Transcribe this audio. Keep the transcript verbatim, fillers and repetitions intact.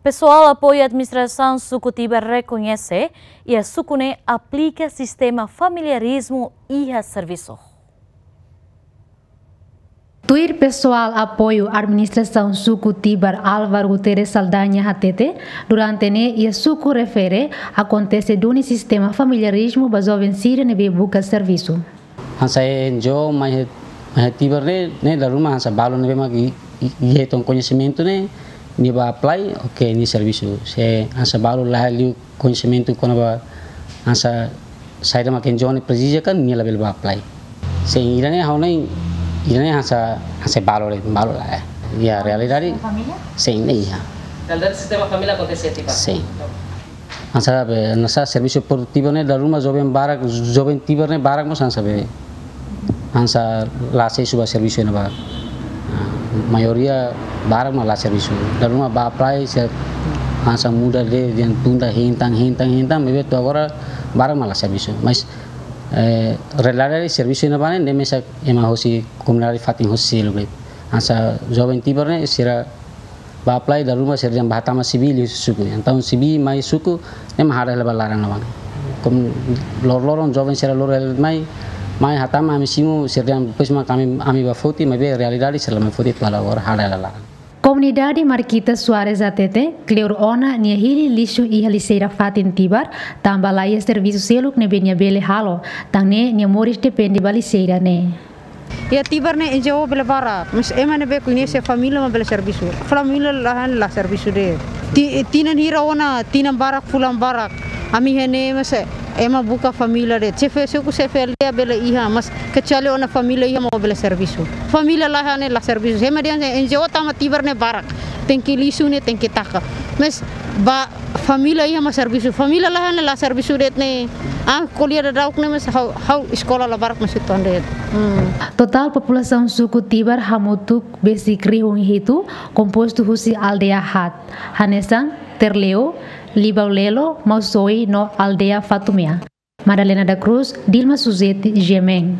Pesoál apoiu administrasaun suku Tibar rekoñese iha suku ne'e aplika sistema familiarizmu iha servisu. Tuir pesoál apoiu administrasaun suku Tibar Álvaro Guterres Saldanha hatete, durante ne'e iha suku refere akontese duni sistema familiarizmu ba joven sira ne'ebé buka servisu. Hanesan N G O mai iha, mai iha Tibar ne'e, ne'e dala ruma hanesan balu ne'ebé mak i-, i-, iha tan koñesimentu ne'e, nia bá apply, oke, nia servisu. Se hanesan balu la iha liu koñesimentu kona-ba hanesan saida mak N G O ne'e presiza kan, nia labele bá apply. Sin, ida-ne'e ha'u-nia, ida-ne'e hanesan, hanesan balu de'it, balu la iha. Ya, realidade. Família? Sin, ne'e iha. Dalam sistema família akontese tiba. Sin. Hanesan be, hanesan servisu produtivu ne'e dala ruma joven barak, joven Tibar ne'e barak mós hanesan be. Hanesan la asesu ba servisu ne'ebá. Ah, maioria barak mak la servisu. Dala ruma bá apply se hanesan muda de'it, dehan tunda hein tan, hein tan, hein tan, maibé to'o agora barak mak la servisu. Mas, eh, realidade servisu ne'ebá ne'e, ne'e mesak ema hosi komunidade fatin hosi seluk de'it. Hanesan joven Tibar ne'e sira bá apply dala ruma sira dehan bá hatama C V liu suku. Entaun C V mai suku, ne'e mak haree hela ba laran ne'ebá. Komu lor-loron joven sira lor mai, mai hatama ami simu sira dehan depois mak ami, ami bá foti, maibé realidade sira la mai foti to'o agora haree hela laran. Komunidade Marquita Soares hatete, kleur ona nia hili lixu iha lixeira fatin Tibar, tanba la iha servisu seluk ne'ebé nia bele halo, tan ne'e nia moris depende ba lixeira ne'e. Iha Tibar ne'e N G O bele barak, mas ema ne'ebé koñese família mak bele servisu. Família la iha ne'e la servisu de'it. Ti-, tinan hira ona, tinan barak, fulan barak. Ami iha ne'e mas ema buka família de'it. Xefe suku, xefe aldeia bele iha, mas kecuali ona família iha mak bele servisu. Família la iha ne'e la servisu. Ema dehan N G O tama Tibar ne'e barak. Tenke lixu ne'e tenke taka. Mas ba família iha mak servisu. Família la iha ne'e la servisu de'it ne'e. Ah, ko'alia daudauk ne'e mas ha'u, ha'u eskola la barak mas uitoan de'it. Hmm. Totál populasaun suku Tibar hamutuk besik rihun hitu, kompostu husi aldeia haat, hanesan Terleu, Libau Lelo, Mausoi no aldeia Fatumea. Madalena da Cruz, Dilma Suzete, G M N.